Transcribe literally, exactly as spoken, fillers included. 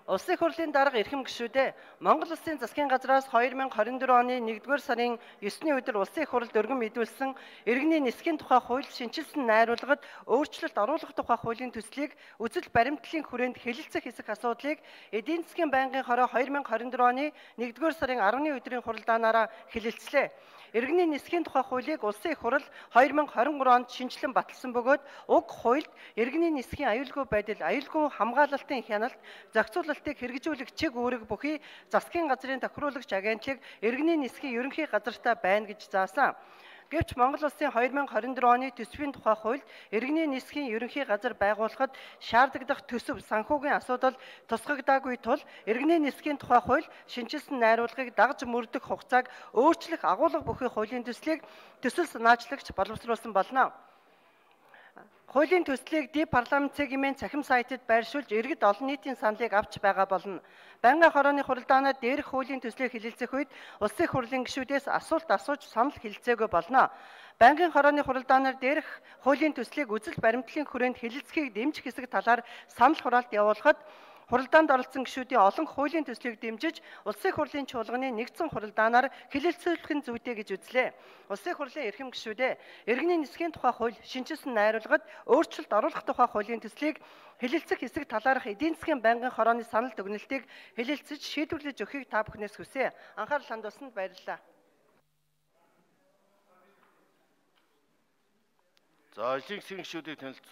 Улсын хурлын дарга эрхэм гишүүдээ Монгол Улсын засгийн газраас хоёр мянга хорин дөрөв оны нэгдүгээр сарын ёсны өдөр улсын хуралд өргөн мэдүүлсэн иргэний нисхийн тухай хууль шинжилсэн найруулгад өөрчлөлт оруулах тухай хуулийн төслийг үзэл баримтлалын хүрээнд хэлэлцэх хэсэг асуудлыг эдийн засгийн байнгын хороо хоёр мянга хорин дөрөв оны нэгдүгээр сарын арваны өдрийн хуралдаанаараа хэлэлцлээ. Иргэний нисхийн тухай хуулийг улсын их хурал хоёр мянга хорин гурав онд шинжилэн баталсан бөгөөд уг хуульд иргэний нисхийн аюулгүй байдал, аюулгүй хамгаалалтын хяналт, зохицуулалтыг хэрэгжүүлэх чиг үүрэг бүхий засгийн газрын тохируулагч агентлаг иргэний нисхийн ерөнхий газартаа байна гэж заасан. Гэвч Монгол Улсын хоёр мянга хорин дөрөв оны төсвийн тухай хуульд иргэний нисхийн ерөнхий газар байгуулахад шаардлагадах төсөв санхүүгийн асуудал тусгагдаагүй тул иргэний нисхийн тухай хууль шинжилсэн найруулгыг дагж мөрдөх хугацааг өөрчлөх агуулга бүхий хуулийн төслийг төсөл санаачлагч боловсруулсан болно. Хуулийн төслийг ди парламент цэгийн цахим сайтад байршуулж иргэд олон нийтийн саналыг авч байгаа болно. Байнгын хорооны хуралдаанаар дээрх хуулийн төслийг хэлэлцэх үед улсын хурлын гишүүдээс асуулт асууж санал хэлэлцээгүй болно. Байнгын хорооны хуралдаанаар дээрх хуулийн төслийг үзэл баримтлалын хүрээнд хэлэлцэхийг дэмжих хэсэг талаар санал хураалт явуулахад хуралдаанд оролцсон гишүүдийн олон хуулийн төслийг дэмжиж улсын хурлын чуулганы нэгдсэн хуралдаанаар хэлэлцүүлэх нь зүйтэй гэж үзлээ. Улсын хурлын эрхэм гишүүдээ иргэний нисхийн тухай хууль шинжилсэн найруулгад өөрчлөлт оруулах тухай хуулийн төслийг хэлэлцэх хэсэг талаарх эдийн засгийн байнгын хорооны санал дүгнэлтийг хэлэлцэж шийдвэрлэж өгөхийг та бүхнээс хүсье. Анхаарал хандуулсанд баярлалаа. За, эсийн гишүүдийг танилцуулъя.